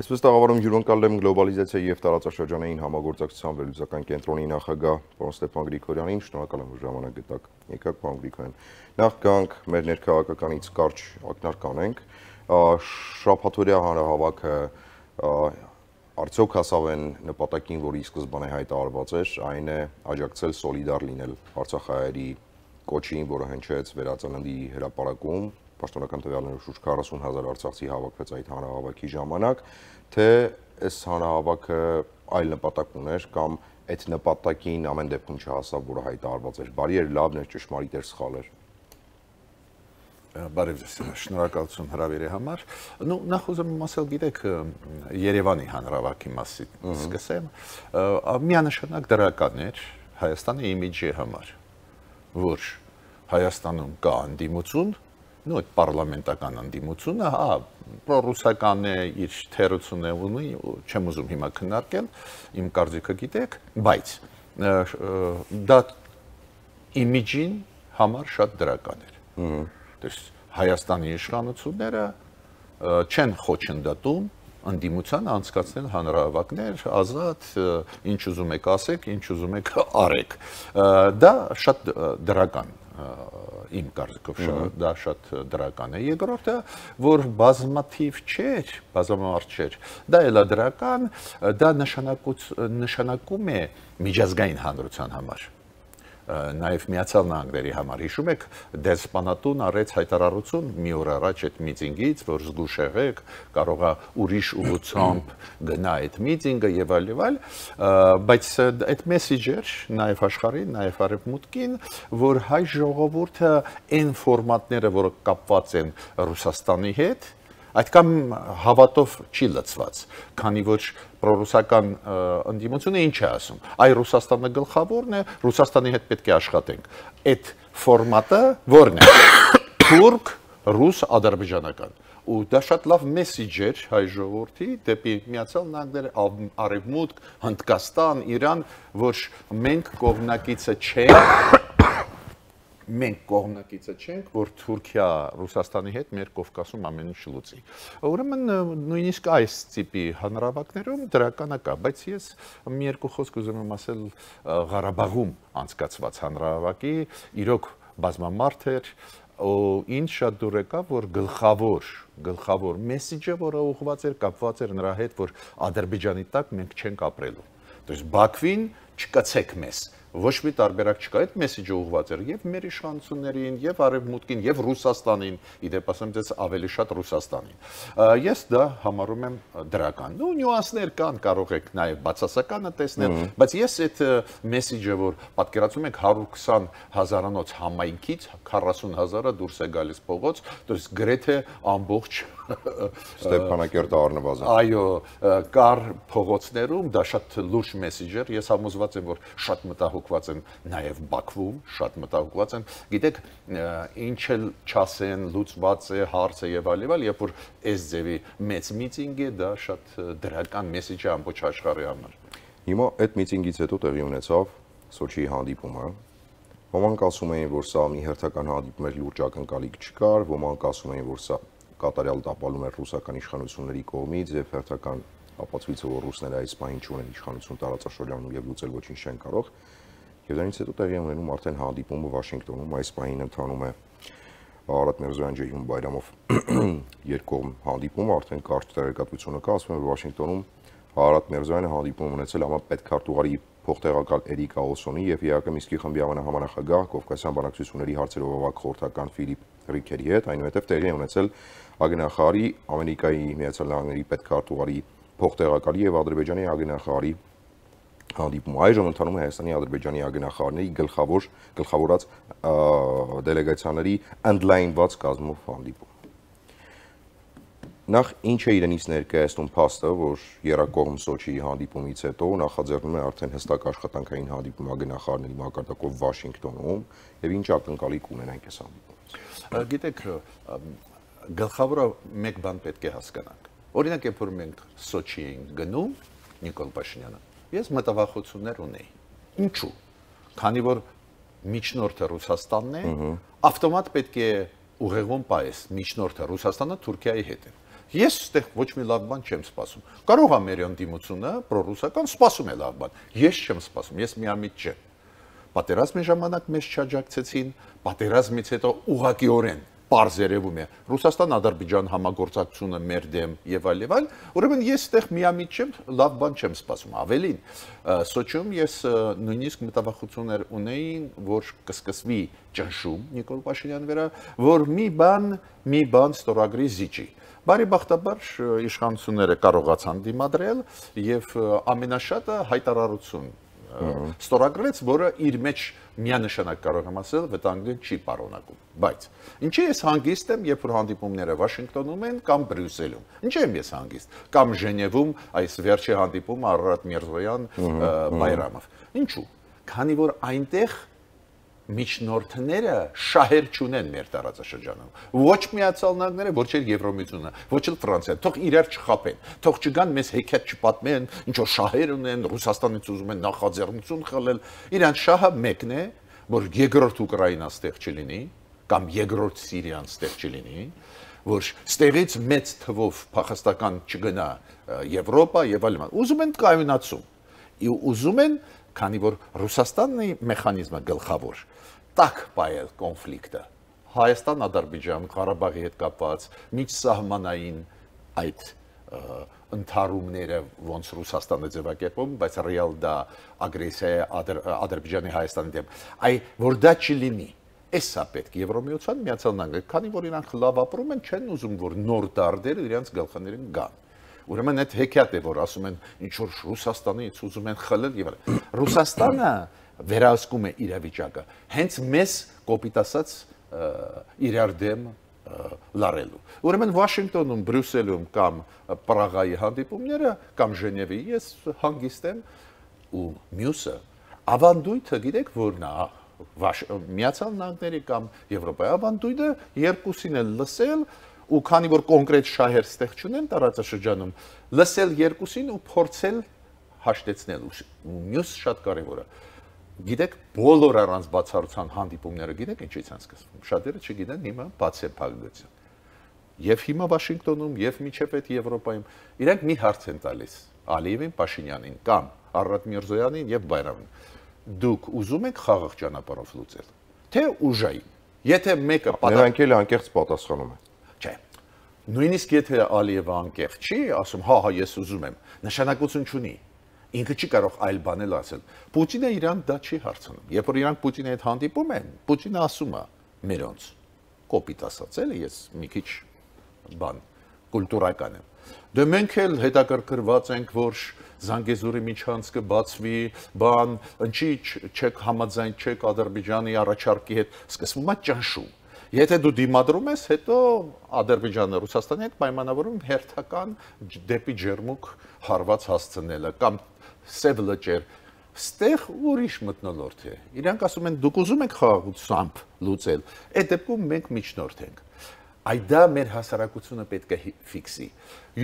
Այսպես տաղավարում հյուրընկալել եմ գլոբալիզացիա եւ տարածաշրջանային համագործակցության վերլուծական կենտրոնի նախագահ պարոն Ստեփան Գրիգորյանին, շնորհակալ եմ, որ ժամանակ գտաք։ Եկաք, պարոն Գրիգորյան։ Նախ գանք մեր ներքաղաքականից կարճ ակնարկ անենք։ Շաբաթօրյա հանրահավաքը արդյոք հասավ են նպատակին, որի սկզբանե հայտարարված էր, այն է աջակցել սոլիդար լինել Արցախահայերի կոչին, որը հնչեց Վերածննդի հրապարակում, պաշտոնական տվյալներով շուրջ 40,000 արցախցի հավաքվեց այդ հանրահավաքի ժամանակ, թե այս հանրահավաքը այլ նպատակ ուներ կամ այդ նպատակին ամեն դեպքում չհասավ, որը հայտարարված էր։ Բարի էր, լավն էր, ճշմարիտ էր, սխալ էր։ Բարև ձեզ, շնորհակալություն հրավերի համար։ Նախ ուզում եմ ասել, գիտեք, Երևանի հանրահավաքի մասին սկսեմ, միանշանակ դրական էր Հայաստանի իմիջի համար, որ Հայաստանում կա անդիմություն, այդ պարլամենտական անդիմությունը, պրոռուսական է, իր թերությունը ունի, չեմ ուզում հիմա քննարկել, իմ կարծիքը գիտեք, բայց դա իմիջին համար շատ դրական էր։ Հայաստանի իշխանությունները չեն խոչընդոտում անդիմության անցկացնել հանրահավաքներ, ազատ, ինչ ուզում եք ասեք, ինչ ուզում եք արեք։ Դա շատ դրական իմ կարծիքով դա շատ դրական է։ Երկրորդը, որ բազմաթիվ չէր, բազմամարդ չէր, դա էլ է դրական, դա նշանակում է միջազգային հանրության համար, նաև Միացյալ Նահանգների համար։ Հիշում եք, դեսպանատուն արեց հայտարարություն մի օր առաջ այդ միտինգից, որ զգուշ եղեք, կարող է ուրիշ ուղղությամբ գնա այդ միտինգը եւ այլ, բայց այդ մեսեջեր նաև աշխարհին, նաև արևմուտքին, որ հայ ժողովուրդը այն ֆորմատները, որը կապված են Ռուսաստանի հետ, այդքան հավատով չի լցված, քանի որ պրոռուսական ընդդիմությունը ինչ է ասում, այ Ռուսաստանը գլխավորն է, Ռուսաստանի հետ պետք է աշխատենք։ Այդ ֆորմատը որն է, թուրք, ռուս, ադրբեջանական։ Ու դա շատ լավ մեսեջ էր հայ ժողովրդի դեպի Միացյալ Նահանգներ, Արևմուտք, Հնդկաստան, Իրան, որ մենք կողմնակիցը չենք, որ Թուրքիա Ռուսաստանի հետ մեր Կովկասում ամեն ինչ լուծի։ Ուրեմն նույնիսկ այս տիպի հանրահավաքներում դրականը կա, բայց ես մի երկու խոսք ուզում եմ ասել Ղարաբաղում անցկացված հանրահավաքի, իրոք բազմամարդ էր, ինչ շատ դուր եկավ, որ գլխավոր մեսեջը, որը ուղղված էր, կապված էր նրա հետ, որ Ադրբեջանի տակ մենք չենք ապրելու։ Դες Բաքվին չկացեք մեզ։ Ոչ մի տարբերակ չկա, այդ մեսեջը ուղղված էր եւ մեր իշխանություններին, եւ Արևմուտքին, եւ Ռուսաստանին, իդեպ ասեմ ձեզ ավելի շատ Ռուսաստանին։ Ես դա համարում եմ դրական։ Նյուանսներ կան, կարող եք նաեւ բացասականը տեսնել, բայց ես այդ մեսեջը, որ պատկերացնում եք 120,000-անոց համայնքից 40,000-ը դուրս է գալիս փողոց, դες գրեթե ամբողջ Ստեփանակերտը առնվազն։ Այո, կար փողոցներում, դա շատ լուրջ մեսեջ էր, ես համոզված եմ, որ շատ մտահոգված են նաև Բաքվում, շատ մտահոգված են, գիտեք, ինչ էլ չասեն, լուծված է, հարց է եւ այլ, երբ որ այս ձևի մեծ միտինգ է, դա շատ դրական մեսեջ է ամբողջ աշխարհի համար։ Հիմա այդ միտինգից հետո տեղի ունեցավ Սոչիի հանդիպումը։ Ոմանք ասում էին, որ սա մի հերթական հանդիպում էր, լուրջ ակնկալիք չկար, ոմանք ասում էին, որ սա կատարյալ տապալում էր ռուսական իշխանությունների կողմից եւ հերթական ապացույցը, որ ռուսները այս պահին չունեն իշխանություն տարածաշրջանում եւ լուծել ոչինչ չեն կարող։ Եվ դրանից հետո տեղի ունենում արդեն հանդիպումը Վաշինգտոնում, այս պահին ընթանում է Արարատ Միրզոյան-Ջեյհուն Բայրամով երկկողմ հանդիպում, արդեն կարճ տեղեկատվությունը կա, ասում են, որ Վաշինգտոնում Արարատ Միրզոյանը հանդիպում ունեցել պետքարտուղարի փոխտեղակալ Էրիկ Աոսոնի եւ ԵԱԿ Միսկի խմբի համանախագահ Կովկասյան բանակցությունների հարցերով ավակ խորհրդական Ֆիլիպ Ռիքերի հետ, այնուհետև տեղի ունեցել ագնախարի Ամերիկայի Միացյալ Նահանգների պետքարտուղարի փոխտեղակալի եւ Ադրբեջանի ագնախարի հանդիպում։ Այժմ ընթանում է Հայաստանի Ադրբեջանի ագնախարների գլխավորած դելեգացիաների ընդլայնված կազմով հանդիպում։ Նախ ինչ է իրենից ներկայացնում փաստը, որ Երակողմ Սոչիի հանդիպումից հետո նախաձեռնում է արդեն հստակ աշխատանքային հանդիպում ագնախարների մակարդակով Վաշինգտոնում եւ ինչ ակնկալիք ունենանք այս հանդիպումից։ Գիտեք, գլխավորը մեկ բան պետք է հասկանանք։ Օրինակ, երբ որ մենք Սոչի ենք գնում, Նիկոլ Փաշինյանը, ես մտավախություններ ունեի։ Ինչու՞։ Քանի որ միջնորդը Ռուսաստանն է, ավտոմատ պետք է ուղեղում պայես միջնորդը Ռուսաստանը Թուրքիայի հետ է։ Ես այդտեղ ոչ մի լավ բան չեմ սպասում։ Կարող է մեր ընդդիմությունը պրոռուսական սպասում է լավ բան։ Ես չեմ սպասում, ես միամիտ չեմ։ Պատերազմի ժամանակ մեզ չաջակցեցին, պատերազմից հետո ուղղակիորեն պարզ երևում է Ռուսաստան-Ադրբեջան համագործակցությունը մեր դեմ եւ այլ, ուրեմն ես այդտեղ միամիտ չեմ, լավ բան չեմ սպասում։ Ավելին, Սոչիում ես նույնիսկ մտավախություններ ունեի, որ կսկսվի ճնշում Նիկոլ Փաշինյանի վրա, որ մի բան ստորագրի զիջի։ Բարեբախտաբար իշխանությունները կարողացան դիմադրել եւ ամենաշատը հայտարարություն ստորագրեց, որը իր մեջ միանշանակ կարող եմ ասել, վտանգը չի պարունակում։ Բայց ինչի ես հանգիստ եմ, երբ որ հանդիպումները Վաշինգտոնում են կամ Բրյուսելում։ Ինչի եմ ես հանգիստ, կամ Ժնևում այս վերջի հանդիպումը Արարատ Միրզոյան Բայրամով։ Ինչու՞։ Քանի որ այնտեղ միջնորդները շահեր չունեն մեր տարածաշրջանում։ Ոչ Միացյալ Նահանգները, ոչ էլ Եվրոմիությունը, ոչ էլ Ֆրանսիան, թող իրար չխաբեն, թող չգան մեզ հեքիաթ չպատմեն, ինչ որ շահեր ունեն, Ռուսաստանից ուզում են նախաձեռնություն խլել։ Իրանց շահը մեկն է, որ երկրորդ Ուկրաինան ստեղ չլինի, կամ երկրորդ Սիրիան ստեղ չլինի, որ ստեղից մեծ թվով փախստական չգնա Եվրոպա եւ այլն։ Ուզում են կայունացում։ Ուզում են, քանի որ Ռուսաստանն է մեխանիզմը գլխավոր, տակ պայել կոնֆլիկտը Հայաստան-Ադրբեջան, Ղարաբաղի հետ կապված միջսահմանային այդ ընդհարումները ոնց Ռուսաստանը ձևակերպում, բայց ռեալ դա ագրեսիա է Ադրբեջանի Հայաստանի դեմ։ Որ դա չլինի, էսա պետք Եվրոմիության Միացյալ Նահանգները, քանի որ իրանք լավ ապրում են, չեն ուզում որ նոր դարդեր իրենց գլխներին գան։ Ուրեմն այդ հեքիաթ է, որ ասում են ինչ որ Ռուսաստանից ուզում են խլել եւ այլն։ Ռուսաստանը վերահսկում է իրավիճակը հենց մեզ կոպիտ ասած իրար դեմ լարելու։ Ուրեմն Վաշինգտոնում, Բրյուսելում կամ Պրագայի հանդիպումները կամ Ժնևի ես հանգիստ եմ ու մյուսը ավանդույթը գիտեք որն է Միացյալ Նահանգների կամ Եվրոպայի ավանդույթը երկուսին էլ լսել ու քանի որ կոնկրետ շահեր ստեղ չունեն տարածաշրջանում լսել երկուսին ու փորձել հաշտեցնել ու մյուս շատ կարևորը գիտեք բոլոր առանց բացառության հանդիպումները գիտեք ինչից են սկսվում շատերը չգիտեն հիմա բացեփակության եւ հիմա Վաշինգտոնում եւ միջև այդ Եվրոպայում իրենք մի հարց են տալիս Ալիևին Փաշինյանին կամ Արարատ Միրզոյանին եւ Բայրամին դուք ուզում եք խաղաղ ճանապարհով լուծել թե ուժային եթե մեկը նրանք էլ անկեղծ պատասխանում են Չէ։ Նույնիսկ եթե Ալիևը անկեղծ չի, ասում, հա, ես ուզում եմ, նշանակություն չունի։ Ինքը չի կարող այլ բանել ասել։ Պուտինը իրան դա չի հարցնում։ Երբ որ իրանք Պուտինի հետ հանդիպում են, Պուտինը ասում է մերոնց կոպիտ ասած էլի, ես մի քիչ բան կուլտուրական եմ։ Դե մենք էլ հետաքրքրված ենք, որ Զանգեզուրի միջանցքը բացվի, բան, ինչի չեք համաձայն չեք Ադրբեջանի առաջարկի հետ, սկսվում է ճնշում։ Եթե դու դիմադրում ես, հետո Ադրբեջանը Ռուսաստանի հետ պայմանավորում հերթական դեպի ջերմուկ հարված հասցնելը կամ սև լճեր, ստեղ ուրիշ մթնոլորտ է։ Իրանք ասում են դուք ուզում եք խաղաղությամբ լուծել, այդ դեպքում մենք միջնորդ ենք։ Դա մեր հասարակությունը պետք է ֆիքսի։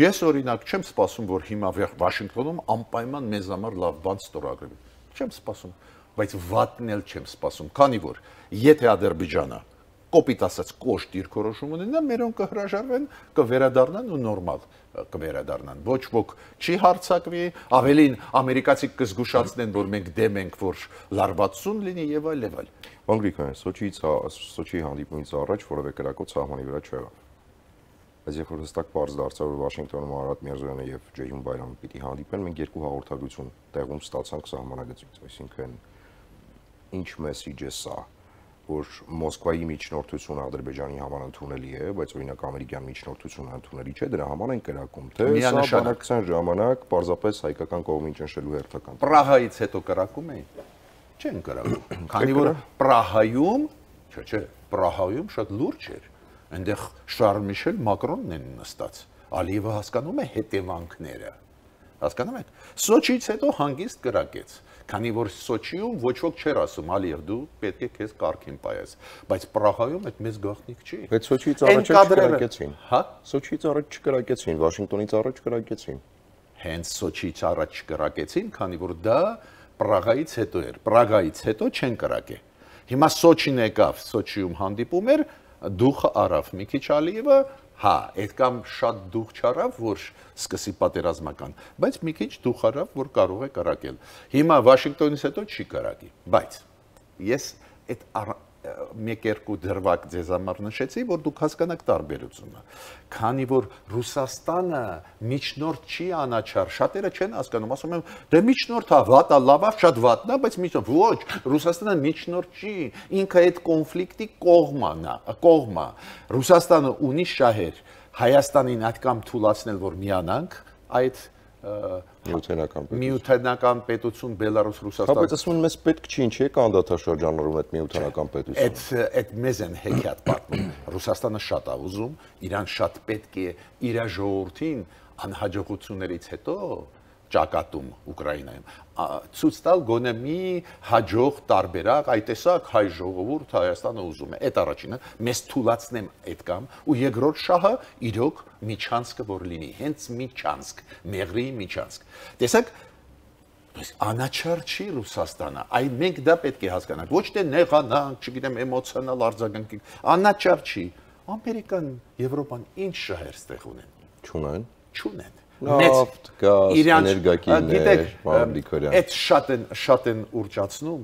Ես օրինակ չեմ սպասում, որ հիմա Վաշինգտոնում անպայման մեզ համար լավ բան ստորագրվի։ Չեմ սպասում, բայց վատն էլ չեմ սպասում, քանի որ եթե Ադրբեջանը կոպիտ ասած կոշտ դիրքորոշում ունենա, մերոնք կհրաժարվեն, կվերադառնան ու նորմալ կվերադառնան։ Ոչ ոք չի հարցակվի, ավելին ամերիկացի կզգուշացնեն, որ մենք դեմ ենք, որ լարվածություն լինի եւ այլ եւ այլ։ Պարոն Գրիգորյան, Սոչիի հանդիպումից առաջ որևէ կրակոց սահմանի վրա չեղավ։ Բայց երբ որ հստակ բարձ դարձավ, որ Վաշինգտոնում Արարատ Միրզոյանը եւ Ջեյհուն Բայրամը պիտի հանդիպեն, մենք երկու հաղորդագրություն տեղում ստացանք սահմանագծից, այսինքն ինչ մեսիջ է սա, որ Մոսկվայի միջնորդությունը Ադրբեջանի համար ընդունելի է, բայց օրինակ ամերիկյան միջնորդությունը ընդունելի չէ, դրա համար են կրակում, թե սա բանակցության ժամանակ պարզապես հայկական կողմին ճնշելու հերթական։ Պրահայից հետո կրակում էին։ Չեն կրակում։ Քանի որ Պրահայում, չէ, Պրահայում շատ լուրջ էր։ Այնտեղ Շարլ Միշել Մակրոնն են նստած։ Ալիևը հասկանում է հետևանքները։ Հասկանում եք։ Սոչիից հետո հանգիստ կրակեց։ Քանի որ Սոչիում ոչ ոք չէր ասում Ալիև դու պետք է քեզ կարգին պայես, բայց Պրահայում այդ մեծ գաղտնիք չի։ Բայց Սոչիից առաջ չկրակեցին։ Հա, Սոչիից առաջ չկրակեցին, Վաշինգտոնից առաջ կրակեցին։ Հենց Սոչիից առաջ չկրակեցին, քանի որ դա Պրագայից հետո էր։ Պրագայից հետո չեն կրակե։ Հիմա Սոչին եկավ, Սոչիում հանդիպում էր, դուխը արավ մի քիչ Ալիևը, հա, այդ կամ շատ դուխ չարավ, որ սկսի պատերազմական, բայց մի քիչ դուխ արավ, որ կարող է կրակել։ Հիմա Վաշինգտոնից հետո չի կրակի, բայց ես այդ մեկ-երկու դրվագ ձեզ համար նշեցի, որ դուք հասկանաք տարբերությունը։ Քանի որ Ռուսաստանը միջնորդ չի անաչառ, շատերը չեն հասկանում, ասում են, դե միջնորդը վատա, լավա, շատ վատն է, բայց միջնորդ, ոչ, Ռուսաստանը միջնորդ չի, ինքը այդ կոնֆլիկտի կողմա։ Ռուսաստանը ունի շահեր, Հայաստանին այդքան թույլատրել, որ միանանք այդ միութենական պետություն Բելարուս Ռուսաստան։ Բայց ասում են մեզ պետք չի, ինչի է կանդադաշրջաններում այդ միութենական պետությունը։ Այդ մեզ են հեքիաթ պատմում։ Ռուսաստանը շատ է ուզում, իրան շատ պետք է իր ժողովրդին անհաջողություններից հետո ճակատում Ուկրաինայում ցույց տալ գոնե մի հաջող տարբերակ, այ տեսակ հայ ժողովուրդ Հայաստանը ուզում է։ Այդ առաջինը մեզ թույլատնեմ այդ կամ ու երկրորդ շահը իրոք միջանցքը որ լինի, հենց միջանցք, մեղրի միջանցք։ Տեսակ անաչառ չի Ռուսաստանը, այ մենք դա պետք է հասկանանք, ոչ թե նեղանանք, չգիտեմ, էմոցիոնալ արձագանք, անաչառ չի։ Ամերիկան, Եվրոպան ինչ շահեր ստեղ ունեն։ Չունեն։ Նավթ, գազ, էներգակիրներ, մամլիկորյան։ Այդ շատ են ուրճացնում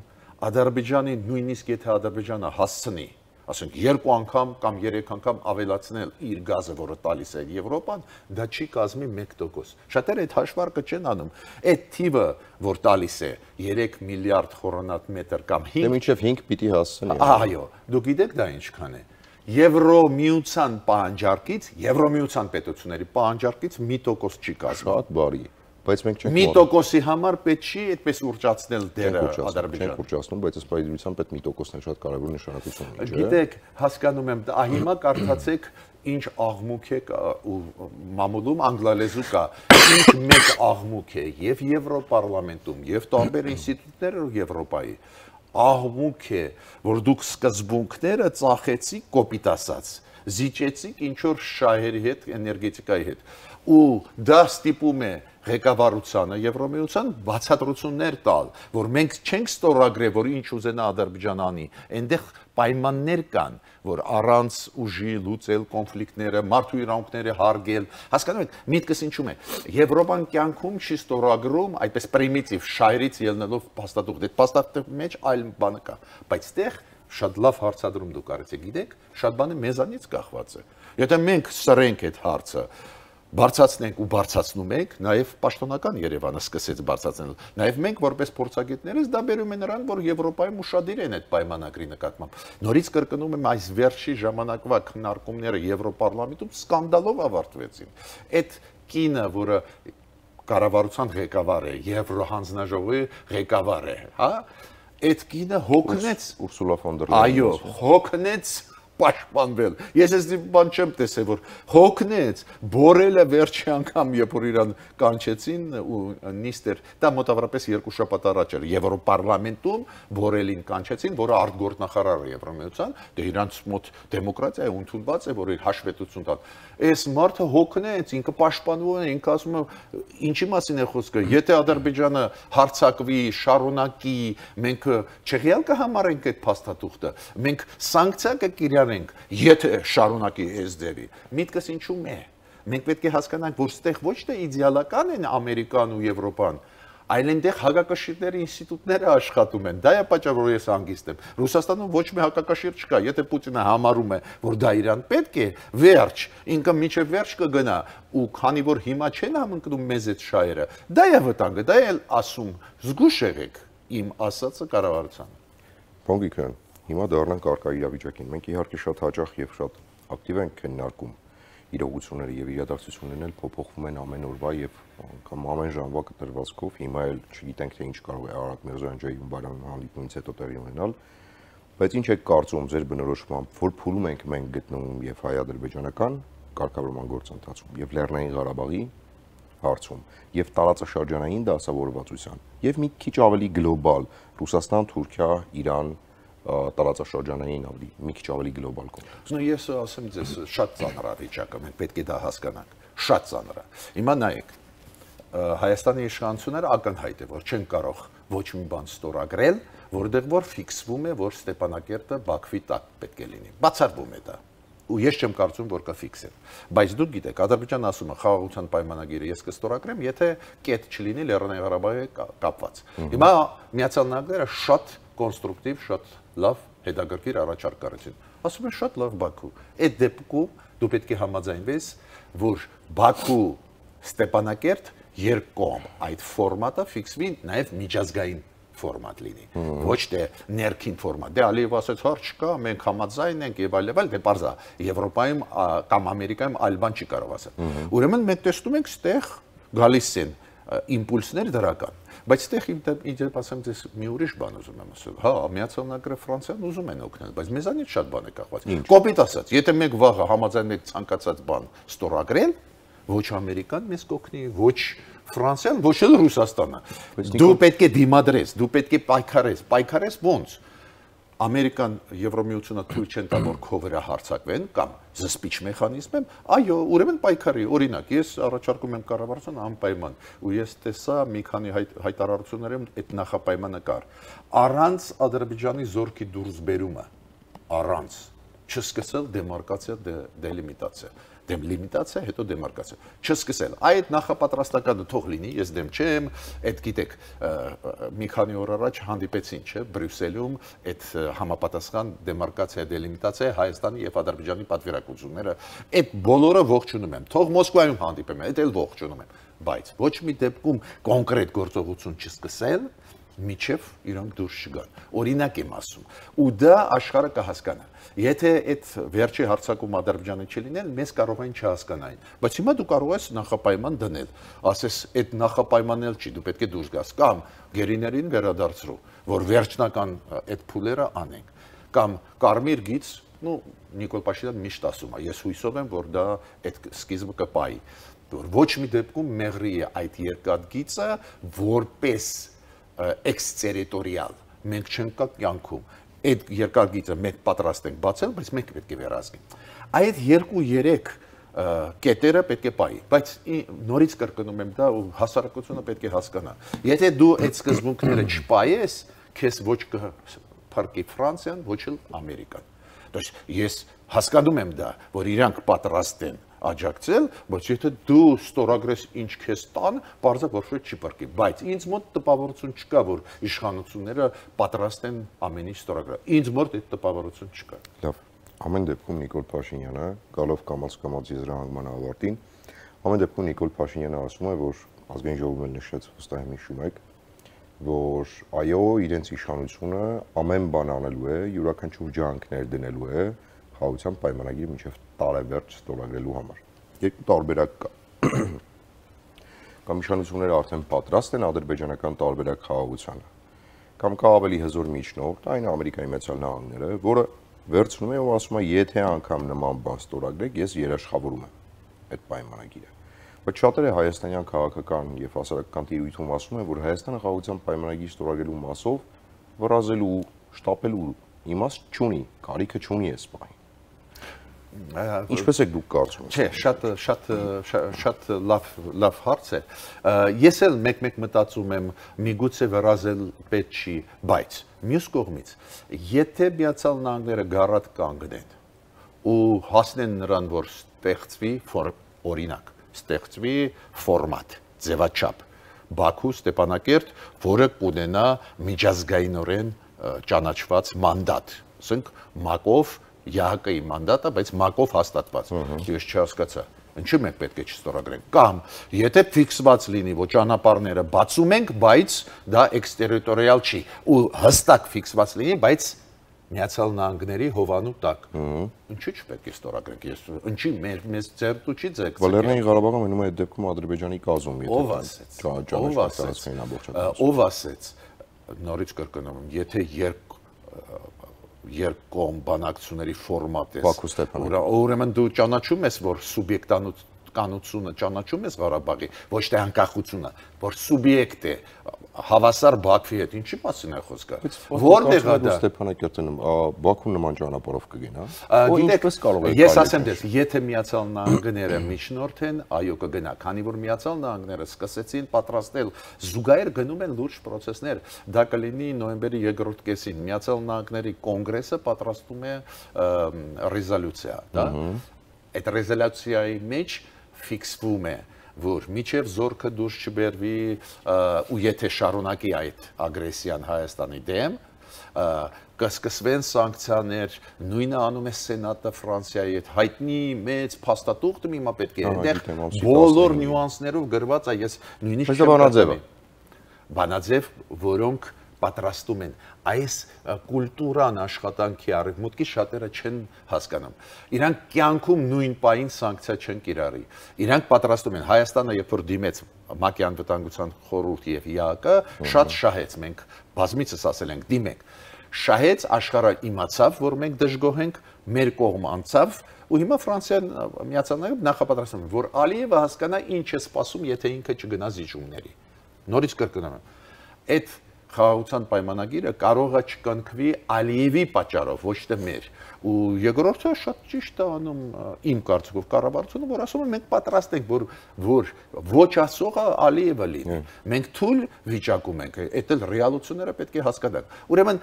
Ադրբեջանի, նույնիսկ եթե Ադրբեջանը հասցնի, ասենք 2 անգամ կամ 3 անգամ ավելացնել իր գազը, որը տալիս է Եվրոպան, դա չի կազմի 1%։ Շատերը այդ հաշվարկը չեն անում։ Այդ թիվը, որ տալիս է 3 միլիարդ խորանարդ կամ 5, դե մինչև 5 պիտի հասցնի։ Այո, դուք գիտեք դա ինչքան է։ Եվրոմիության պահանջարկից, Եվրոմիության պետությունների պահանջարկից 1% չի կազմում։ Շատ բարի, բայց մենք չենք 1%-ի համար պետք չի այդպես ուրճացնել դերը Ադրբեջանը։ Չենք ուրճացնում, բայց ըստ պայմանության պետք 1%-ն շատ կարևոր նշանակություն ունի, չէ՞։ Գիտեք, հասկանում եմ, հիմա կարդացեք ինչ աղմուկ է ու մամուլում անգլալեզու կա, ինչ մեծ աղմուկ է եւ Եվրոպարլամենտում, եւ տարբեր ինստիտուտներում Եվրոպայի աղմուկ է, որ դուք սկզբունքները ծախեցիք կոպիտ ասած, զիջեցիք ինչ որ շահերի հետ, էներգետիկայի հետ, ու դա ստիպում է ղեկավարությանը Եվրոմիության բացատրություններ տալ, որ մենք չենք ստորագրել, որ ինչ ուզենա Ադրբեջանը անի, այնտեղ պայմաններ կան, որ առանց ուժի լուծել կոնֆլիկտները, մարդու իրավունքները հարգել, հասկանում եք, միտքս ինչու՞մ է։ Եվրոպան կյանքում չի ստորագրում այդպես պրիմիտիվ շահերից ելնելով փաստաթուղթ, այդ փաստաթղթի մեջ այլ բան կա, բայց այդտեղ շատ լավ հարցադրում դուք արեցիք, գիտեք, շատ բանը մեզանից կախված է։ Եթե մենք սրենք այդ հարցը, բարձրացնենք ու բարձրացնում ենք, նաև պաշտոնական Երևանը սկսեց բարձրացնել։ Նաև մենք որպես փորձագետներս դա բերում է նրան, որ Եվրոպայում ուշադիր են այդ պայմանագրի նկատմամբ։ Նորից կրկնում եմ, այս վերջի ժամանակվա քննարկումները Եվրոպարլամենտում սկանդալով ավարտվեցին։ Այդ կինը, որը կառավարության ղեկավար է, Եվրոհանձնաժողովի ղեկավար է, հա, այդ կինը հոգնեց Ուրսուլա ֆոն դեր Լայեն։ Այո, հոգնեց պաշտպանվել։ Ես այս բան չեմ տեսել, որ հոգնեց, բորելը վերջի անգամ, երբ որ իրան կանչեցին ու նիստեր, դա մոտավորապես 2 շաբաթ առաջ էր Եվրոպարլամենտում բորելին կանչեցին, որը արտգործնախարար է Եվրոմիության, դե իրանց մոտ դեմոկրատիա է, ընդունված է, որ իր հաշվետվություն տան։ Այս մարդը հոգնեց, ինքը պաշտպանվում է, ինքը ասում է, ինչի մասին է խոսքը, եթե Ադրբեջանը հարձակվի, շարունակի, մենք չեղյալ կհամարենք այդ փաստաթուղթը, մենք սանկցիա կկիրառենք, եթե շարունակի SDR-ի։ Միտքս ինչու՞մ է։ Մենք պետք է հասկանանք, որ ստեղ ոչ թե իդեալական են Ամերիկան ու Եվրոպան, այլ այնտեղ հակակշիռների ինստիտուտները աշխատում են։ Դա է պատճառը, որ ես հանգիստ եմ։ Ռուսաստանում ոչ մի հակակշիռ չկա։ Եթե Պուտինը համարում է, որ դա իրան պետք է, վերջ, ինքը միջև վերջ կգնա, ու քանի որ հիմա չեն համընկնում մեզ այդ շահերը, դա է վտանգը, դա է ասում, զգուշ եղեք իմ ասածը կառավարությանը։ Բոնգիկյան, հիմա դառնանք արկա իրավիճակին։ Մենք իհարկե շատ հաճախ եւ շատ ակտիվ ենք քննարկում իրողությունները եւ իրադարձություններն էլ փոփոխվում են ամեն օրվա եւ կամ ամեն ժամվա կտրվածքով։ Հիմա էլ չգիտենք թե ինչ կարող է Արարատ Միրզոյանջիի ու Բայրամի հանդիպումից հետո տեղի ունենալ, բայց ինչ եք կարծում ձեր բնորոշմամբ, որ փուլում ենք մենք գտնվում եւ հայ-ադրբեջանական կարգավորման գործընթացում եւ Լեռնային Ղարաբաղի հարցում եւ տարածաշրջանային դասավորվածության եւ մի քիչ ավելի գլոբալ Ռուսաստան, Թուրքիա, Իրան տարածաշրջանային ավելի մի քիչ ավելի գլոբալ կոնտեքստ։ Նո ես ասեմ ձեզ շատ ծանր է վիճակը, մենք պետք է դա հասկանանք։ Շատ ծանր է։ Հիմա նայեք, Հայաստանի իշխանությունները ակնհայտ է, որ չեն կարող ոչ մի բան ստորագրել, որտեղ որ ֆիքսվում է, որ Ստեփանակերտը Բաքվի տակ պետք է լինի։ Բացառվում է դա։ ու ես չեմ կարծում, որ կա ֆիքսել։ Բայց դուք գիտեք, Ադրբեջանը ասում է խաղաղության պայմանագիրը ես կստորագրեմ, եթե կետ չլինի Լեռնային Ղարաբաղի կապված։ Հիմա Միացյալ Նահանգները շատ կոնստրուկտիվ, շատ լավ հետաքրքիր առաջարկ արեցին։ Ասում են շատ լավ Բաքու։ Այդ դեպքում դու պետք է համաձայնվես, որ Բաքու Ստեփանակերտ երկկողմ այդ ֆորմատը ֆիքսվի նաև միջազգային ֆորմատ լինի, ոչ թե ներքին ֆորմատ։ Դե Ալիևը ասաց, հարց չկա, մենք համաձայն ենք եւ այլ, դե բարձա Եվրոպայում կամ Ամերիկայում այլ բան չի կարող ասել։ Ուրեմն մենք տեսնում ենք, ստեղ գալիս են իմպուլսներ դրական, բայց ստեղ իդեպ ասեմ ձեզ մի ուրիշ բան ուզում եմ ասել։ Հա, Միացյալ Նահանգները Ֆրանսիան ուզում են օգնել, բայց մեզանից շատ բան է կախված։ Կոպիտ ասած, եթե մենք վաղը համաձայն ենք ցանկացած բան ստորագրել, ոչ Ամերիկան մեզ կօգնի, ոչ Ֆրանսիան, ոչ էլ Ռուսաստանը։ Դու պետք է դիմադրես, դու պետք է պայքարես ոնց։ Ամերիկան, Եվրոմիությունը թույլ չեն տա, որ քո վրա հարձակվեն կամ զսպիչ մեխանիզմ եմ, այո, ուրեմն պայքարի, օրինակ, ես առաջարկում եմ կառավարության անպայման, ու ես տեսա մի քանի հայտարարություններում այդ նախապայմանը կար։ Առանց Ադրբեջանի զորքի դուրս բերումը, առանց չսկսել դեմարկացիա, դելիմիտացիա, դելիմիտացիա, հետո դեմարկացիա, չսկսել։ Այդ նախապատրաստականը թող լինի, ես դեմ չեմ, այդ գիտեք, մի քանի օր առաջ հանդիպեցին, չէ, Բրյուսելում այդ համապատասխան դեմարկացիա, դելիմիտացիա Հայաստանի եւ Ադրբեջանի պատվիրակությունները, այդ բոլորը ողջունում եմ։ Թող Մոսկվայում հանդիպեմ, այդ էլ ողջունում եմ, բայց ոչ մի դեպքում կոնկրետ գործողություն չսկսել, միջև իրանք դուրս չգան։ Օրինակ եմ ասում, ու դա աշխարհը կհասկանա։ Եթե այդ վերջի հարձակում Ադրբեջանը չլիներ, մեզ կարող են չհասկանային։ Բայց հիմա դու կարող ես նախապայման դնել, ասես այդ նախապայմանն էլ չի, դու պետք է դուրս գաս կամ գերիներին վերադարձրու, որ վերջնական այդ փուլերը անենք, կամ կարմիր գիծ, Նիկոլ Փաշինյանը միշտ ասում է, ես հույսով եմ, որ դա այդ սկիզբը կպայի, որ ոչ մի դեպքում մեղրի է այդ երկաթգիծը որպես էքստերիտորիալ, մենք չենք կա կյանքում, այդ երկարգիծը մենք պատրաստ ենք բացել, բայց մենք պետք է վերահսկենք։ Այդ 2-3 կետերը պետք է պայի, բայց նորից կրկնում եմ դա ու հասարակությունը պետք է հասկանա։ Եթե դու այդ սկզբունքները չպայես, քեզ ոչ կփրկի Ֆրանսիան, ոչ էլ Ամերիկան։ Ես հասկանում եմ դա, որ իրանք պատրաստ են աջակցել, բայց եթե դու ստորագրես ինչ քեզ տան, բարձր որ չի պրկի, բայց ինձ մոտ տպավորություն չկա, որ իշխանությունները պատրաստ են ամեն ինչ ստորագրել։ Ինձ մոտ այդ տպավորություն չկա։ Լավ, ամեն դեպքում Նիկոլ Փաշինյանը գալով կամաց եզրահանգման ավարտին, ամեն դեպքում Նիկոլ Փաշինյանը ասում է, որ ազգային ժողովը նշեց, վստահ եմ հիշում եք, որ այո, իրենց իշխանությունը ամեն բան անելու է, յուրաքանչյուր ջանքներ դնելու է խաղաղության պայմանագիրը մինչև տարեվերջ ստորագրելու համար։ Երկու տարբերակ կա։ Կամ իշխանությունները արդեն պատրաստ են ադրբեջանական տարբերակ խաղաղությանը, կամ կա ավելի հզոր միջնորդ, այն Ամերիկայի Միացյալ Նահանգները, որը վերցնում է ու ասում է, եթե անգամ նման բան ստորագրեք, ես երաշխավորում եմ այդ պայմանագիրը։ Բայց շատերը հայաստանյան քաղաքական եւ հասարակական տիրույթում ասում են, որ Հայաստանը խաղաղության պայմանագիր ստորագրելու մասով վրազելու, շտապելու իմաստ չունի, կարիքը չունի այս բանը։ Ինչպես եք դուք կարծում եք։ Չէ, շատ լավ հարց է։ Ես էլ մեկ-մեկ մտածում եմ, միգուցե վրազել պետք չի, բայց մյուս կողմից, եթե Միացյալ Նահանգները գարատ կանգնեն ու հասնեն նրան, որ ստեղծվի օրինակ, ստեղծվի ֆորմատ, ձևաչափ, Բաքու, Ստեփանակերտ, որը կունենա միջազգայինորեն ճանաչված մանդատ, ասենք ՄԱԿ-ով ԵԱՀԿ-ի մանդատը, բայց ՄԱԿ-ով հաստատված։ Ես չհասկացա, ինչու մենք պետք է չստորագրենք։ Կամ եթե ֆիքսված լինի, որ ճանապարհները բացում ենք, բայց դա էքստերիտորիալ չի, ու հստակ ֆիքսված լինի, բայց Միացյալ Նահանգների հովանու տակ։ Ինչու՞ չպետք է ստորագրենք։ Ես ինչի մեզ ձեռտու չի ձգցել։ Լեռնային Ղարաբաղը մնում է այդ դեպքում Ադրբեջանի կազում, ով ասեց։ Նորից կրկնում եմ, եթե երկկողմ բանակցությունների ֆորմատ է, ուրեմն դու ճանաչում ես, որ սուբյեկտանությունը ճանաչում ես Ղարաբաղի, ոչ թե անկախությունը, որ սուբյեկտ է, հավասար Բաքվի հետ ինչի մասին է խոսքը։ Որտեղ է դա Ստեփանակերտն Բաքուն նման ճանապարհով կգնա։ Ինչպես կարող է։ Ես ասեմ դες, եթե Միացյալ Նահանգները միջնորդ են, այո կգնա, քանի որ Միացյալ Նահանգները սկսեցին պատրաստել զուգահեռ գնում են լուրջ process-ներ։ Դա կլինի նոյեմբերի 2-րդ կեսին Միացյալ Նահանգների կոնգրեսը պատրաստում է ռեզոլյուցիա, դա։ Այդ ռեզոլյուցիայի մեջ ֆիքսվում է որ միջև զորքը դուրս չբերվի ու եթե շարունակի այդ ագրեսիան Հայաստանի դեմ կսկսվեն սանկցիաներ, նույնը անում է Սենատը Ֆրանսիայի հետ հայտնի մեծ փաստաթուղթը հիմա պետք է այնտեղ բոլոր նյուանսներով գրված է ես նույնիսկ բանաձև որոնք պատրաստում են այս կուլտուրան աշխատանքի արևմուտքի շատերը չեն հասկանում իրանք կյանքում նույն պահին սանկցիա չեն կիրառի իրանք պատրաստում են Հայաստանը երբ որ դիմեց ՄԱԿ-ի անվտանգության խորհուրդի եւ ՀԱԿ-ը շատ շահեց մենք բազմիցս ասել ենք դիմենք շահեց աշխարհը իմացավ որ մենք դժգոհ ենք մեր կողմ անցավ ու հիմա Ֆրանսիան Միացյալ Նահանգները նախապատրաստում են որ Ալիևը հասկանա ինչ է սպասում եթե ինքը չգնա զիջումների նորից կրկնում եմ այդ խաղաղության պայմանագիրը կարող է չկնքվի Ալիևի պատճառով, ոչ թե մեր։ Ու երկրորդը շատ ճիշտ է անում իմ կարծիքով կառավարությունը, որ ասում են մենք պատրաստ ենք, որ ոչ ասողը Ալիևը լինի։ Մենք թույլ վիճակում ենք, այդ էլ ռեալությունները պետք է հասկանանք։ Ուրեմն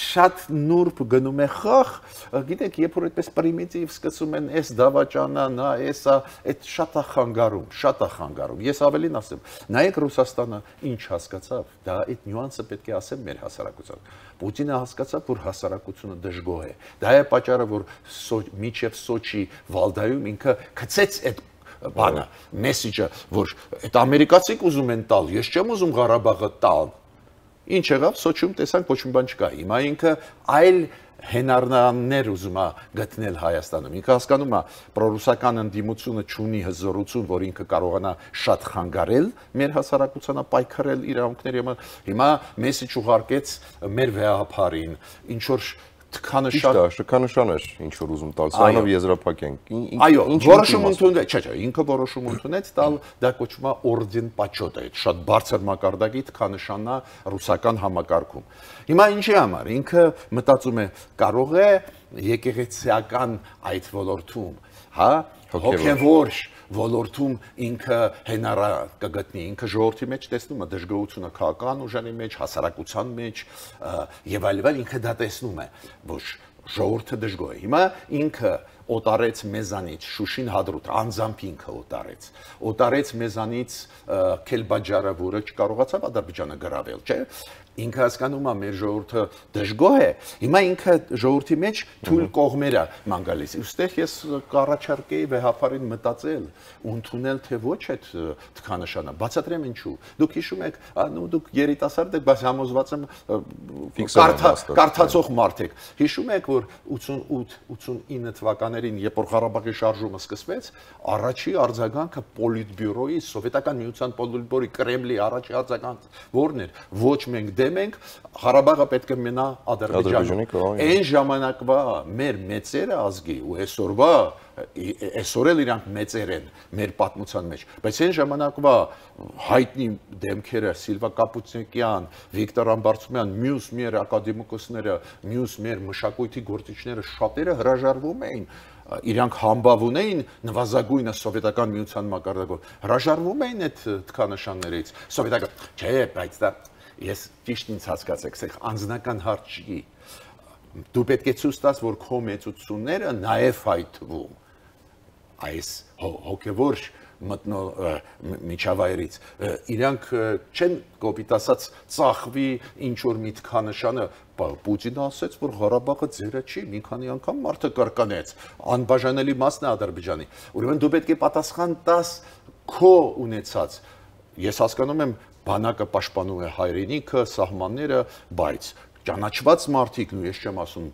շատ նուրբ գնում է խաղ, գիտեք, երբ որ այդպես պրիմիտիվ սկսում են այս դավաճանա, նա էսա, այդ շատ է խանգարում։ Ես ավելին ասեմ, նայեք Ռուսաստանը ինչ հասկացավ, դա այդ նյուանսը պետք է ասեմ մեր հասարակության։ Պուտինը հասկացավ, որ հասարակությունը դժգոհ է։ Դա է պատճառը, որ միջև Սոչի Վալդայում ինքը գցեց այդ բանը, մեսեջը, որ այդ ամերիկացիք ուզում են տալ, ես չեմ ուզում Ղարաբաղը տալ։ Ինչ եղավ, Սոչիում տեսանք ոչ մի բան չկա։ Հիմա ինքը այլ հենարնաններ ուզում է գտնել Հայաստանում։ Ինքը հասկանում է, պրոռուսական ընդդիմությունը չունի հզորություն, որ ինքը կարողանա շատ խանգարել մեր հասարակությանը, պայքարել իրավունքների համար։ Հիմա մեսեջ ուղարկեց մեր վեհապարին, ինչ որ Շքանշան էր ինչ որ ուզում տալ, սրանով եզրափակենք։ Այո, որոշում ընդունեց, չէ, ինքը որոշում ընդունեց տալ, դա կոչվում է օրդեն պաչոտ է, շատ բարձր մակարդակի թքանշանն է ռուսական համակարգում։ Հիմա ինչի համար, ինքը մտածում է կարող է եկեղեցիական այդ ոլորտում, հա, հոգևոր ոլորտում ինքը հենարա կգտնի, ինքը ժողովրդի մեջ տեսնում է դժգոհությունը քաղաքական ուժերի մեջ, հասարակության մեջ եւ այլն, ինքը դա տեսնում է, որ ժողովուրդը դժգոհ է։ Հիմա ինքը օտարեց մեզանից Շուշին Հադրութ, անձամբ ինքը օտարեց մեզանից Քելբաջարը, որը չկարողացավ Ադրբեջանը գրավել, չէ՞։ Ինքը հասկանում է մեր ժողովուրդը դժգոհ է, հիմա ինքը ժողովրդի մեջ թույլ կողմերը ման գալիս։ Ուստեղ ես կառաջարկեի վեհապարին մտածել ու ընդունել թե ոչ այդ թքանշանը։ Բացատրեմ ինչու։ Դուք հիշում եք, դուք երիտասարդ եք, բայց համոզված եմ կարդացող մարդ եք։ Հիշում եք, որ 88-89 թվականներին, երբ որ Ղարաբաղի շարժումը սկսվեց, առաջի արձագանքը Պոլիտբյուրոյի, Սովետական միության Պոլիտբյուրոյի, Կրեմլի առաջի արձագանքը որն էր։ Ոչ մենք դեմ ենք, Ղարաբաղը պետք է մնա Ադրբեջանում։ Այն ժամանակվա մեր մեծերը ազգի ու այսօր էլ իրանք մեծեր են մեր պատմության մեջ, բայց այն ժամանակվա հայտնի դեմքերը Սիլվա Կապուտինյան, Վիկտոր Ամբարձումյան, մյուս մեր ակադեմիկոսները, մյուս մեր մշակույթի գործիչները շատերը հրաժարվում էին իրանք համբավ ունեին նվազագույնը սովետական միության մակարդակով հրաժարվում էին այդ թքանշաններից սովետական չէ բայց դա ես ճիշտ ինձ հասկացեք սա անձնական հարց չի դու պետք է ցույց տաս որ քո մեծությունները նաև հայտնվում այս հոգևոր միջավայրից իրանք չեն կոպիտ ասած ծախվի ինչ որ մի թքանշանը Պուտինը ասաց որ Ղարաբաղը ձերը չի մի քանի անգամ մարդը կրկնեց անբաժանելի մասն է Ադրբեջանի ուրեմն դու պետք է պատասխան տաս քո ունեցած ես հասկանում եմ բանակը պաշտպանում է հայրենիքը սահմանները բայց ճանաչված մարդիկ ու ես չեմ ասում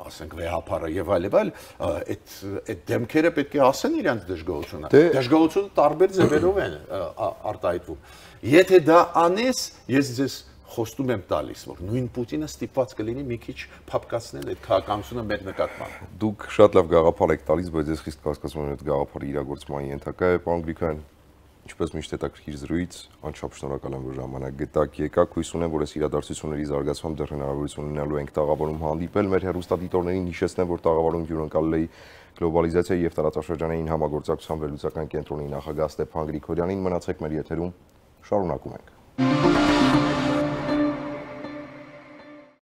ասենք վեհապարը եւ այլն այդ դեմքերը պետք է ասեն իրենց դժգոհությունը դժգոհությունը տարբեր ձևերով են արտահայտվում եթե դա անես ես ձեզ խոստում եմ տալիս որ նույն Պուտինը ստիպված կլինի մի քիչ փապկացնել այդ քաղաքականությունը մեր նկատմամբ դուք շատ լավ գաղափար եք տալիս բայց ես խիստ կասկածում եմ այդ գաղափարը իրագործման ենթակա է պարոն Գրիգորյան Ինչպես միշտ հետաքրքիր զրույց, անչափ շնորհակալ եմ, որ ժամանակ գտաք, եկաք, հույս ունեմ, որ այս իրադարձությունների զարգացմամբ դեռ հնարավորություն ունենալու ենք տաղավարում հանդիպել։ Մեր հեռուստադիտողներին հիշեցնեմ, որ տաղավարում հյուրընկալել էի գլոբալիզացիայի եւ տարածաշրջանային համագործակցության վերլուծական կենտրոնի նախագահ Ստեփան Գրիգորյանին։ Մնացեք մեր եթերում, շարունակում ենք։